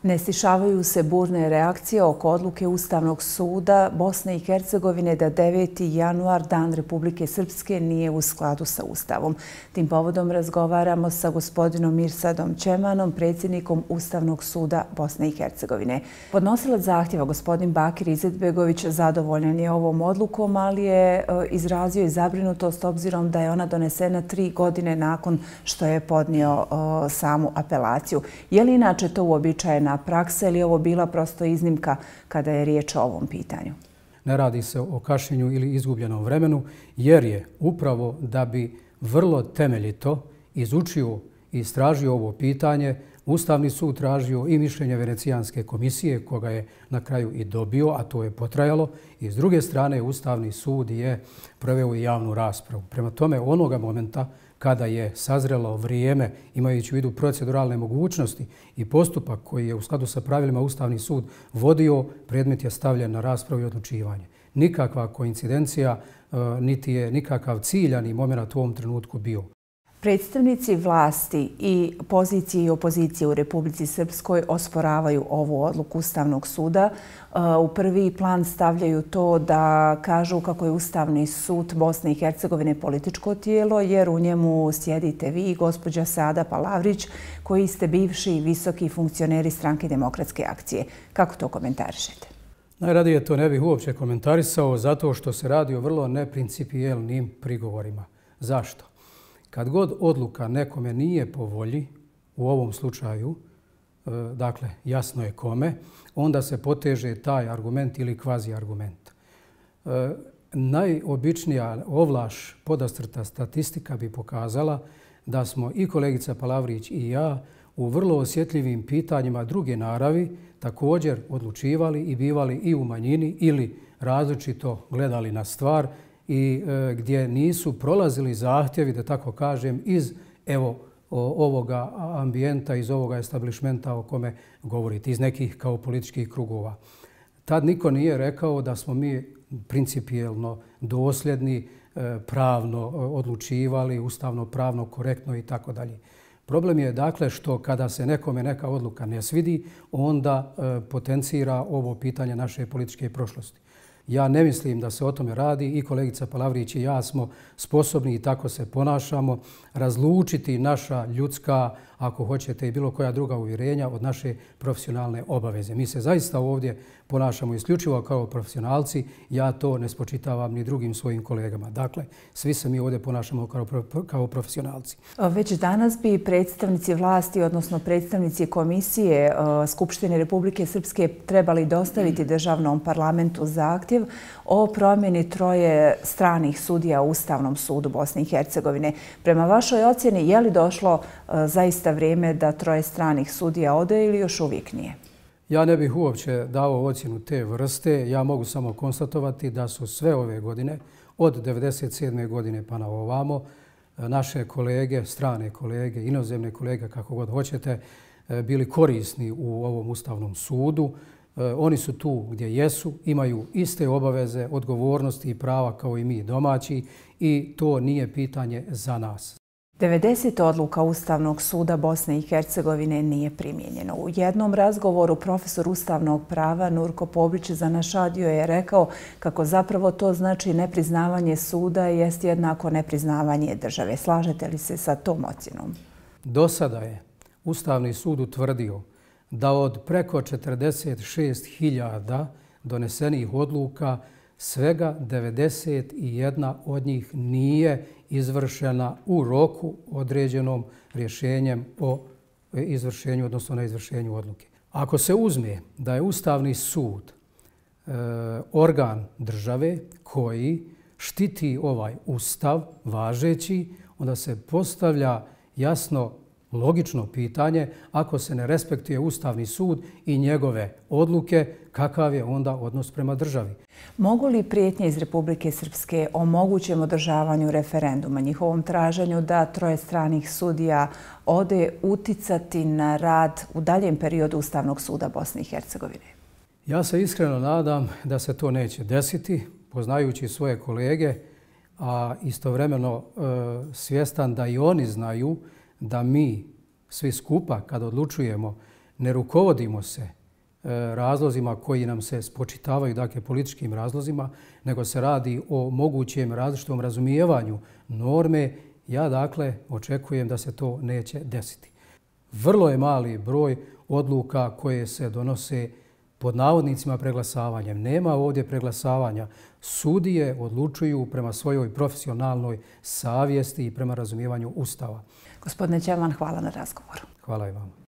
Ne stišavaju se burne reakcije oko odluke Ustavnog suda Bosne i Hercegovine da 9. januar, Dan Republike Srpske, nije u skladu sa Ustavom. Tim povodom razgovaramo sa gospodinom Mirsadom Čemanom, predsjednikom Ustavnog suda Bosne i Hercegovine. Podnosilac zahtjeva, gospodin Bakir Izetbegović, zadovoljan je ovom odlukom, ali je izrazio i zabrinutost obzirom da je ona donesena 3 godine nakon što je podnio samu apelaciju. Je li inače to uobičajena praksa ili je ovo bila prosto iznimka kada je riječ o ovom pitanju? Ne radi se o kašnjenju ili izgubljenom vremenu, jer je upravo da bi vrlo temeljito izučio i istražio ovo pitanje, Ustavni sud tražio i mišljenje Venecijanske komisije, koga je na kraju i dobio, a to je potrajalo. I s druge strane, Ustavni sud je proveo i javnu raspravu. Prema tome, onoga momenta kada je sazrelo vrijeme, imajući u vidu proceduralne mogućnosti i postupak koji je u skladu sa pravilima Ustavni sud vodio, predmet je stavljen na raspravu i odlučivanje. Nikakva koincidencija, niti je nikakav ciljani moment u ovom trenutku bio. Predstavnici vlasti i pozicije i opozicije u Republici Srpskoj osporavaju ovu odluku Ustavnog suda. U prvi plan stavljaju to da kažu kako je Ustavni sud Bosne i Hercegovine političko tijelo, jer u njemu sjedite vi i gospođa Sada Palavrić, koji ste bivši visoki funkcioneri Stranke demokratske akcije. Kako to komentarišete? Najradije to ne bih uopće komentarisao zato što se radi o vrlo neprincipijelnim prigovorima. Zašto? Kad god odluka nekome nije po volji, u ovom slučaju, dakle jasno je kome, onda se poteže taj argument ili kvazi argument. Najobičnija ovlaš podastrta statistika bi pokazala da smo i kolegica Palavrić i ja u vrlo osjetljivim pitanjima druge naravi također odlučivali i bivali i u manjini ili različito gledali na stvar i gdje nisu prolazili zahtjevi, da tako kažem, iz ovoga ambijenta, iz ovoga establishmenta o kome govorite, iz nekih kao političkih krugova. Tad niko nije rekao da smo mi principijelno dosljedni, pravno odlučivali, ustavno, pravno, korektno i tako dalje. Problem je dakle što kada se nekome neka odluka ne svidi, onda potencira ovo pitanje naše političke prošlosti. Ja ne mislim da se o tome radi i kolegica Palavrić i ja smo sposobni i tako se ponašamo razlučiti naša ljudska, ako hoćete i bilo koja druga uvjerenja od naše profesionalne obaveze. Mi se zaista ovdje ponašamo isključivo kao profesionalci, ja to ne spočitavam ni drugim svojim kolegama. Dakle, svi se mi ovdje ponašamo kao profesionalci. Već danas bi predstavnici vlasti, odnosno predstavnici Komisije Skupštine Republike Srpske trebali dostaviti državnom parlamentu zahtjev o promjeni 3 stranih sudija u Ustavnom sudu Bosne i Hercegovine. Prema vašoj ocjeni, je li došlo zaista vrijeme da 3 stranih sudija ode ili još uvijek nije? Ja ne bih uopće dao ocjenu te vrste. Ja mogu samo konstatovati da su sve ove godine, od 1997. godine pa na ovamo, naše kolege, strane kolege, inozemne kolege, kako god hoćete, bili korisni u ovom Ustavnom sudu. Oni su tu gdje jesu, imaju iste obaveze, odgovornosti i prava kao i mi domaći i to nije pitanje za nas. 90 odluka Ustavnog suda Bosne i Hercegovine nije primijenjeno. U jednom razgovoru profesor ustavnog prava Nurko Pobrić za naš radio je rekao kako zapravo to znači nepriznavanje suda jest jednako nepriznavanje države. Slažete li se sa tom ocjenom? Do sada je Ustavni sud utvrdio da od preko 46.000 donesenih odluka svega 91 od njih nije izvršena u roku određenom rješenjem o izvršenju, odnosno na izvršenju odluke. Ako se uzme da je Ustavni sud organ države koji štiti ovaj Ustav važeći, onda se postavlja jasno logično pitanje, ako se ne respektuje Ustavni sud i njegove odluke, kakav je onda odnos prema državi? Mogu li prijetnje iz Republike Srpske o mogućem održavanju referenduma, njihovom traženju da 3 stranih sudija ode uticati na rad u daljem periodu Ustavnog suda Bosne i Hercegovine? Ja se iskreno nadam da se to neće desiti, poznajući svoje kolege, a istovremeno svjestan da i oni znaju da mi svi skupa kad odlučujemo ne rukovodimo se razlozima koji nam se spočitavaju, dakle političkim razlozima, nego se radi o mogućem različitom razumijevanju norme, ja dakle očekujem da se to neće desiti. Vrlo je mali broj odluka koje se donose pod navodnicima preglasavanjem. Nema ovdje preglasavanja. Sudije odlučuju prema svojoj profesionalnoj savjesti i prema razumijevanju Ustava. Gospodine Ćelman, hvala na razgovoru. Hvala i vama.